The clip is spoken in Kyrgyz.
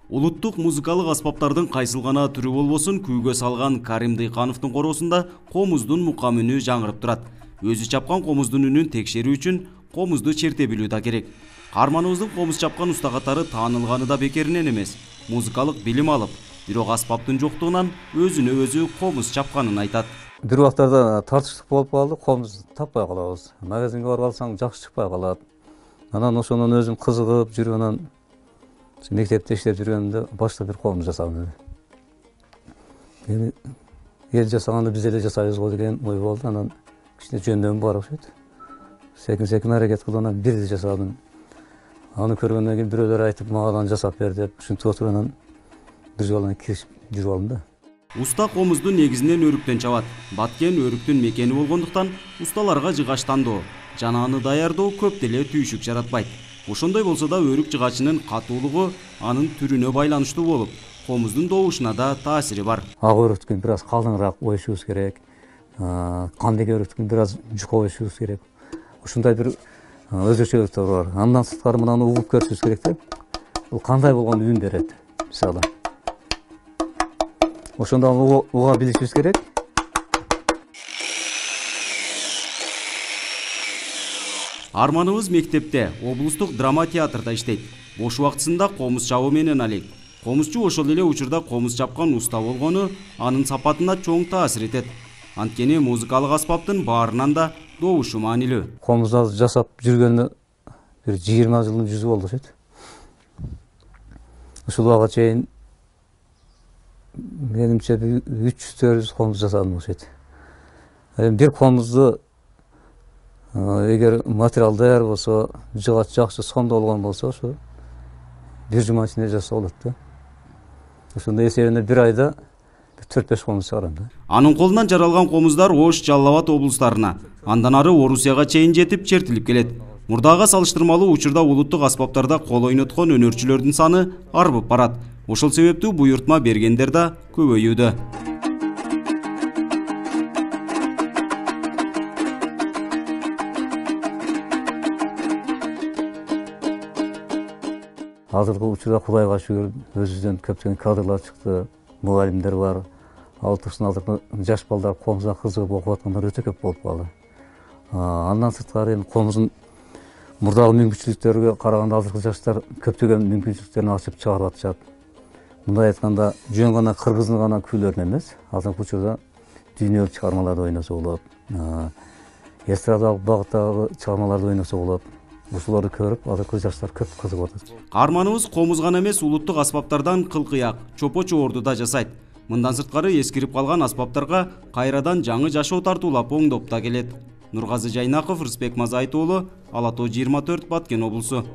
Улуттук музыкалык аспаптардын кайсыл гана түрү болбосун күүгө салган Карим Дыйкановдун короосунда комуздун мукам үнү жаңырып турат. Өзү чапкан комуздун үнүн текшерүү үчүн комузду черте билүү да керек. Каарманыбыздын комуз чапкан уста катары таанылганы да бекеринен эмес. Музыкалык билим алып, бирок аспаптын жоктугунан өзүнө өзү комуз чапканын айтат. Бир убактарда тартыштык болуп калды, комуз таппай калабыз. Магазинге барып алсаң жакшы чыкпай калат. Анан ошондон өзүм кызыгып жүрүп анан мектепте иштеп жүргөндө баштап бир комуз жасадым. Эми эл жасаганда биз эле жасайбыз го деген ой болду. Анан кичине жөндөмү бар окшойт. Секин аракет кылып анан бирди жасадым. Аны көргөндөн кийин бирөөлөр айтып, мага да жасап бер деп, ушинтип отуруп анан бир жолу киришип жүрүп алдым да. Уста комузду негизинен өрүктөн чабат. Баткен өрүктүн мекени болгондуктан усталарга жыгач тандоо жана аны даярдоо көп деле түйшүк жаратпайт. Ошондой болсо да өрүк жыгачынын катуулугу анын түрүнө байланыштуу болуп, комуздун добушуна да таасири бар. Ак өрүктүн бир аз калдыңыраак оюшубуз керек. Кандек өрүктүн бир аз жука оюшубуз керек. Ушундай бир өзгөчөлүктөр бар. Андан сырткары мынаны угуп көрүшүбүз керек да. Бул кандай болгон үн берет, мисалы. Ошондо уга билишибиз керек. Арманыбыз мектепте, облустук драма театрда иштейт. Бош убактысында комуз чабуу менен алек. Комузчу ошол эле учурда комуз чапкан уста болгону анын сапатына чоң таасир этет. Анткени музыкалык аспаптын баарынан да добушу маанилүү. Комузду жасап жүргөнү бир 20 жылдын жүзү болду окшойт. Ушул убакка чейин менимче 300-400 комуз жасадым окшойт. Бир комузду эгер материал даяр болсо, жыгач жакшы сомдолгон болсо, ошо бир жума ичинде жасаса болот да. Ошондо эсебинде бир айда 4-5 комуз чыгарам да. Анын колунан жаралган комуздар Ош, Жалал Абад облустарына, андан ары Орусияга чейин жетип чертилип келет. Мурдага салыштырмалуу учурда улуттук аспаптарда кол ойноткон өнөрчүлөрдүн саны арбып барат. Ошол себептүү буйртма бергендер да көбөйүүдө. Азыркы учурда Кудайга шүгүр өзүбүздөн көптөгөн кадрлар чыкты, мугалимдер бар. Ал турсун азыркы жаш балдар комузга кызыгып окуп аткандар өтө көп болуп калды. Андан сырткары эми комуздун мурдагы мүмкүнчүлүктөргө караганда азыркы жаштар көптөгөн мүмкүнчүлүктөрүн ачып чыгарып атышат. Мындай айтканда жөн гана кыргыздын гана күйлөрүн эмес, азыркы учурда дүйнөлүк чыгармаларды ойносо болот. Эстрадалык багыттагы чыгармаларды ойносо болот. Ушуларды көрүп азыркы жаштар көп кызыгып атат. Каарманыбыз комуз гана эмес, улуттук аспаптардан кылкыяк, чопо чоорду да жасайт. Мындан сырткары эскирип калган аспаптарга кайрадан жаңы жашоо тартуулап оңдоп да келет. Нургазы Жайнаков, Рысбек Мазайыт уулу, Ала Тоо 24, Баткен облусу.